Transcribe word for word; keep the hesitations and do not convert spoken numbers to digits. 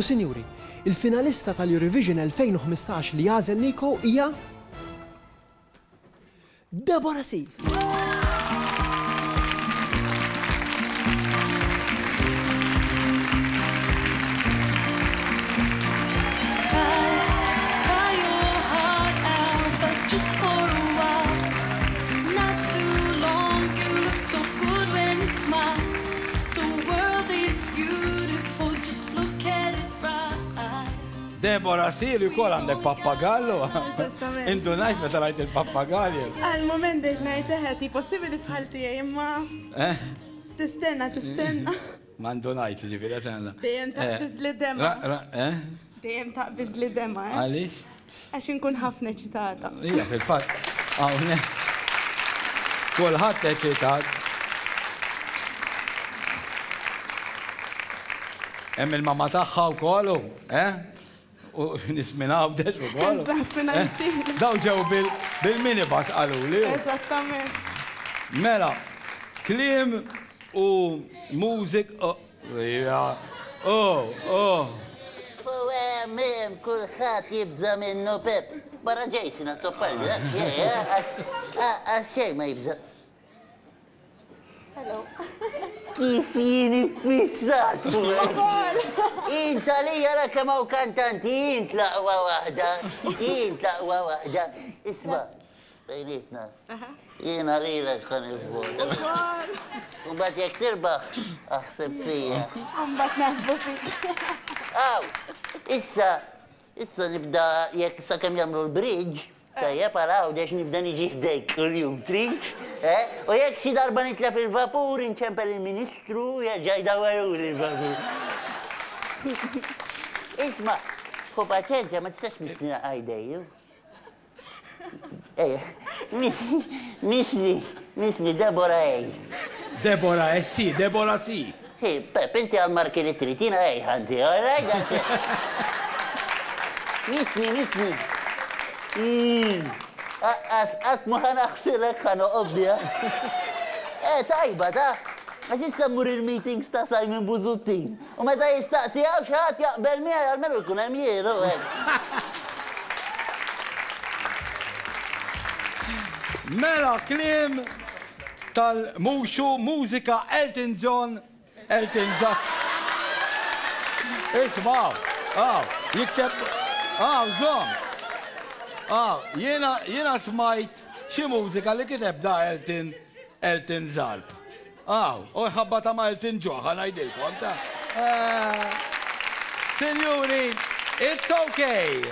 U sinjuri, il-finalista tal-Eurovision elfejn u ħmistax li għażel Nico hija Deborah C. Deborah C, li wkoll għandek pappagallu. Eżattament. Indunajt meta rajt il-pappagalli. Għal-moment dejt ngħid eħe, ti possibbli bħal tiegħi imma Eh? tistenna, tistenna. Ma ndunajt ġifieri għax Dejjem taqbiż li dema. Ra, ra, eh? Dejjem taqbiż li dema, eh? Għaliex? Għax inkun ħafna eċitata. Ija, fil-fatt, hawnhekk. Kulħadd eċitat. Hemm il-mama tagħha wkoll, eh? U nies minn Għawdex ukoll. Eżatt, minn Għawdex. Daw ġew bil-minibus qaluli. Eżattament. Mela, kliem u mużik. Oh, oh, oh. Mem, kulħadd jibża' minnu Pep. Barra Jason għat-toppalli, dak xejn, għax xejn ma jibża'. Hello. Kif jien iffissat fuqek. Int għalija ra kemm hawn kantanti, int l-aqwa waħda, int l-aqwa waħda. Isma', bejnietna. Jiena lilek ħa nivvota. U mbagħad jekk tirbaħ, aħseb fija. Mbagħad naħsbu fik. Aw, issa, issa nibda jekk sakemm jagħmlu l-bridge, tajjeb għal Għawdex nibda niġi ħdejk kuljum, trid? Eh? U jekk xi darba nitlef il-vapur, inċempel il-Ministru, jerġa' jdawwaruli l-vapur. Isma', ħu paċenzja, ma tistax missni għajdejju. Ejja, misni, misni, Deborah ej. Deborah, eh sì, Deborah sì. Hi, Pep, inti għal-marki li trid, jiena ej ħanti, all right, that's it. Misni, misni. Għat ma ħanaħsilek ħanoqob biha. Eh, tajba, ta' għax issa mmur il-meetings ta' Simon Busuttil. U meta jistaqsi għaw xi ħadd jaqbel miegħi għalmenu jkun hemm jien, u hekk. Mela kliem tal-muxu mużika Elton John, Elton John. Isma', aw, jikteb, aw, żomm. Aw, jiena, jiena smajt xi mużika li kiteb da Elton, Elton Zarb. Aw, u ħabba ta' ma' Elton John, ħa ngħidilkom, ta'. Eh, Signori, it's okay.